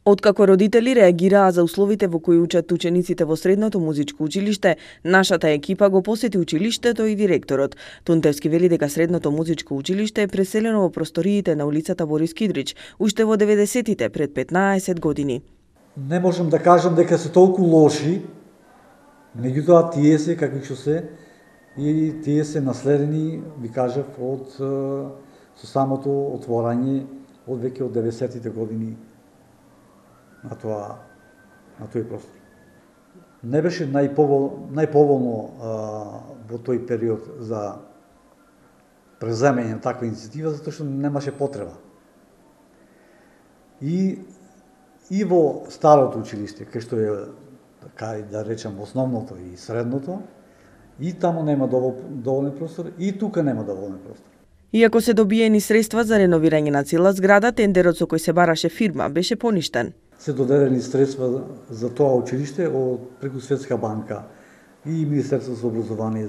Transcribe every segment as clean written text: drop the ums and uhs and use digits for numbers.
Откако родители реагираа за условите во кои учат учениците во средното музичко училиште, нашата екипа го посети училиштето и директорот. Тунтевски вели дека средното музичко училиште е преселено во просториите на улицата Борис Кидрич уште во 90-тите, пред 15 години. Не можам да кажам дека се толку лоши, меѓутоа тие се какви што се и тие се наследени, ви кажав, со самото отворање од веќе од 90-тите години на тој простор. Не беше најповолно во тој период за преземање на таква иницијатива, затоа што немаше потреба. И во старото училиште, кај што е, да речем, основното и средното, и таму нема доволен простор, и тука нема доволен простор. Иако се добиени средства за реновирање на цела зграда, тендерот со кој се бараше фирма беше поништен. Се доделени средства за тоа училиште од преку Светска банка и Министерството за образование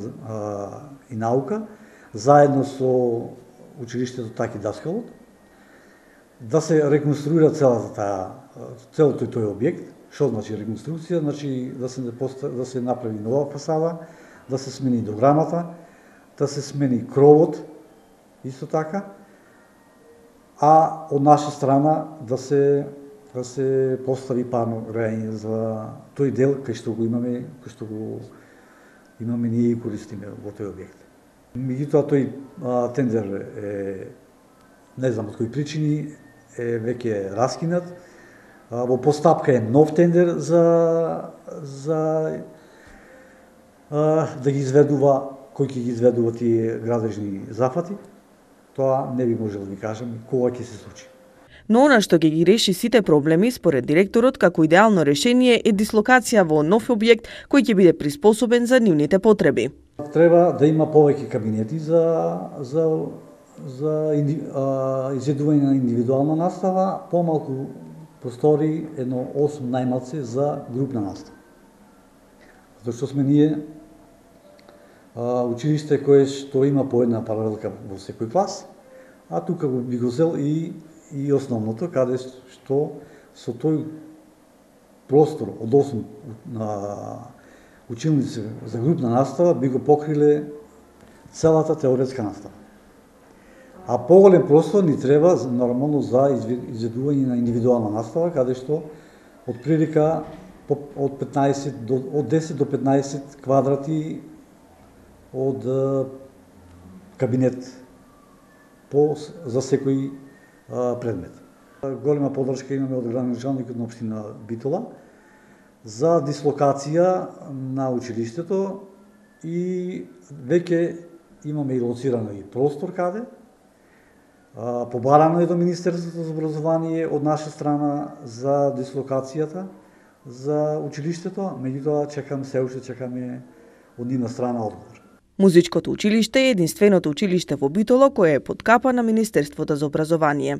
и наука, заедно со училиштето Таки Даскалот, да се реконструира целото тој објект. Што значи реконструкција? Значи да се направи нова фасада, да се смени дограмата, да се смени кровот, исто така, а од наша страна да се постави парно грејање за тој дел кај што го имаме ние и користиме во тој објект. Меѓутоа тој тендер е, не знам од кои причини, е веќе раскинат. Во постапка е нов тендер за да ги изведува, кој ќе ги изведува тие градежни зафати. Тоа не би можел да ви кажам кога ќе се случи. Но она што ќе ги реши сите проблеми, според директорот, како идеално решение е дислокација во нов објект кој ќе биде приспособен за нивните потреби. Треба да има повеќе кабинети за изведување на индивидуална настава, помалку простори, едно 8 најмалце за групна настава. Затоа што сме ние училиште кое што има по една паралелка во секој клас, а тука би го зел и основното, каде што со тој простор од 8 училници за групна настава би го покриле целата теоретска настава. А поголем простор ни треба нормално за изведување на индивидуална настава, каде што од прилика од 10 до 15 квадрати од кабинет за секој предмет. Голема поддршка имаме од градоначалникот на општина Битола за дислокација на училиштето и веќе имаме и лоцирано и простор каде. Побарано е до Министерството за образование од наша страна за дислокацијата за училиштето, меѓутоа се уште чекаме од нивна страна одговор. Музичкото училиште е единственото училиште во Битола кое е под капа на Министерството за образование.